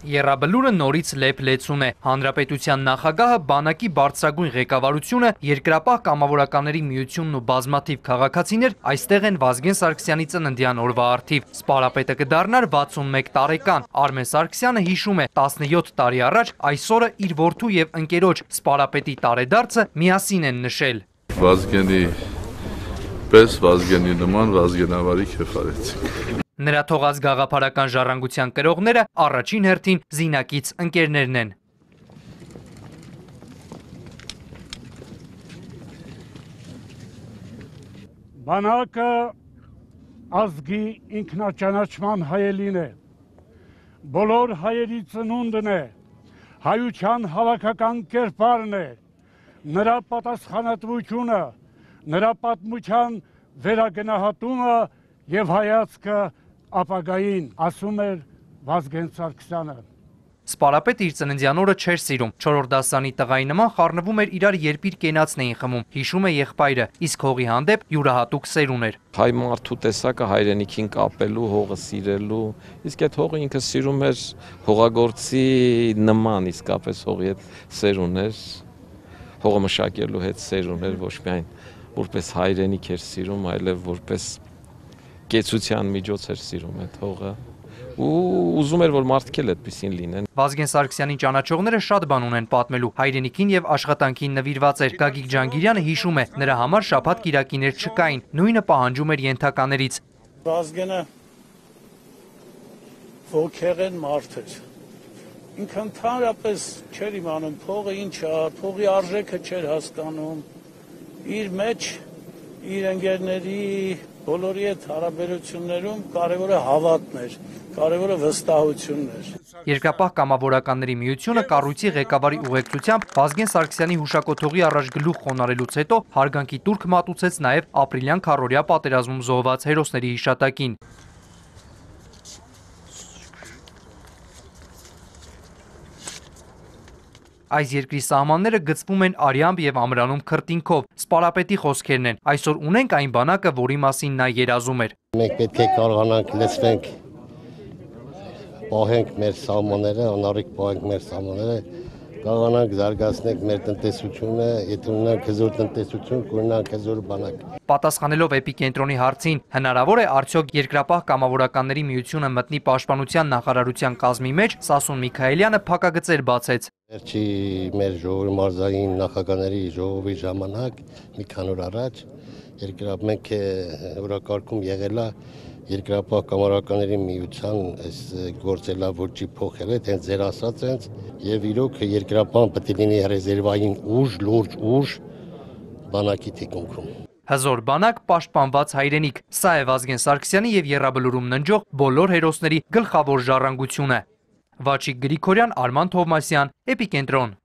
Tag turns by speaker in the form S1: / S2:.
S1: Եռաբլուրը նորից լեփ-լեցուն է։ Հանրապետության նախագահը, բանակի բարձրագույն ղեկավարությունը, Երկրապահ կամավորականների միությունն ու բազմաթիվ քաղաքացիներ այստեղ են Վազգեն Սարգսյանի ծննդյան օրվա առթիվ։ Սպարապետը կդառնար 61 տարեկան։ Արմեն Սարգսյանը հիշում է 17 տարի առաջ այս օրը իր որդու եւ ընկերոջ սպարապետի տարեդարձը միասին են նշել։
S2: Վազգենի պես Վազգենի նման Վազգենավարի քեֆարեցինք։
S1: Նրա թողած գաղափարական ժառանգության կրողները առաջին հերթին զինակից ընկերներն են։
S3: Բանակը ազգի ինքնաճանաչման հայելին է, բոլոր հայերի ծնունդն է, հայության հավաքական կերպարն է, նրա պատասխանատվությունը, նրա պատմության վերագնահատումը եւ հայացքը ապագային, ասում էր Վազգեն Սարգսյանը։
S1: Սպարապետը իր ծննդյան օրը չէր սիրում, 4-րդ դասարանի տղայի նման խառնվում էր իրար երբ իր կենացն էին խմում, հիշում է եղբայրը, իսկ հողի հանդեպ յուրահատուկ սեր ուներ։
S4: Հայ մարդու տեսակը հայրենիքին կապելու, հողը սիրելու, իսկ այդ հողը ինքը սիրում էր հողագործի նման, իսկապես հողի հետ սեր ուներ, հողը մշակելու հետ սեր ուներ, ոչ միայն որպես հայրենիք էր սիրում, այլև որպես կեցության միջոց էր սիրում այդ հողը ու ուզում էր որ մարդիկ էլ այդպեսին լինեն։
S1: Վազգեն Սարգսյանին ճանաչողները շատ բան ունեն պատմելու, հայրենիքին եւ աշխատանքին նվիրված էր։ Գագիկ Ջանգիրյանը հիշում է, նրա համար շաբաթ կիրակիներ չկային, նույնը պահանջում էր ենթականերից։
S5: Վազգենը ոգեղեն մարդ էր։ Ինքը ընդհանրապես չէր իմանում փողը ինչ է, փողի արժեքը չէր հասկանում։ Իր մեջ իր ընկերների բոլորի հետ հարաբերություններում կարևորը հավատն էր, կարևորը վստահությունն էր։
S1: Երկրապահ կամավորականների միությունը կառույցի ղեկավարի ուղեկցությամբ Վազգեն Սարգսյանի հուշակոթողի առաջ գլուխ խոնարհելուց հետո հարգանքի տուրք մատուցեց նաև ապրիլյան քառօրյա պատերազմում զոհված հերոսների հիշատակին։ Այս երկրի սահմանները գծվում են արյամբ եւ ամրանում քրտինքով։ Սպարապետի խոսքերն են։ Այսօր ունենք այն բանակը, որի մասին նա երազում էր։
S6: Մենք պետք է կարողանանք լցնենք, պահենք մեր սահմանները, անառիկ պահենք մեր սահմանները, կարողանանք զարգացնենք մեր տնտեսությունը, եթե ունենանք հզոր տնտեսություն, կունենանք հզոր բանակ։
S1: Պատասխանելով էպիկենտրոնի հարցին, հնարավոր է արդյոք Երկրապահ կամավորականների միությունը մտնի պաշտպանության նախարարության կազմի մեջ, Սասուն Միքայելյանը փակագծեր բացեց։
S6: Վերջի մեր ժողովի մարզային նախագահների ժողովի ժամանակ մի քանի օր առաջ մենք օրակարգում եղել է Երկրապահ կամավորականների միության այս գործելավոճի փոխել է, հենց ձեր ասած հենց եւ իրոք Երկրապահը պետք է լինի ռեզերվային ուժ, լուրջ ուժ բանակի թիկունքում։
S1: Հզոր բանակ, պաշտպանված հայրենիք։ Սա է Վազգեն Սարգսյանի եւ Եռաբլուրում ննջող բոլոր հերոսների գլխավոր ժառանգությունը։ Վաչիկ Գրիգորյան, Արման Թովմասյան, Էպիկենտրոն։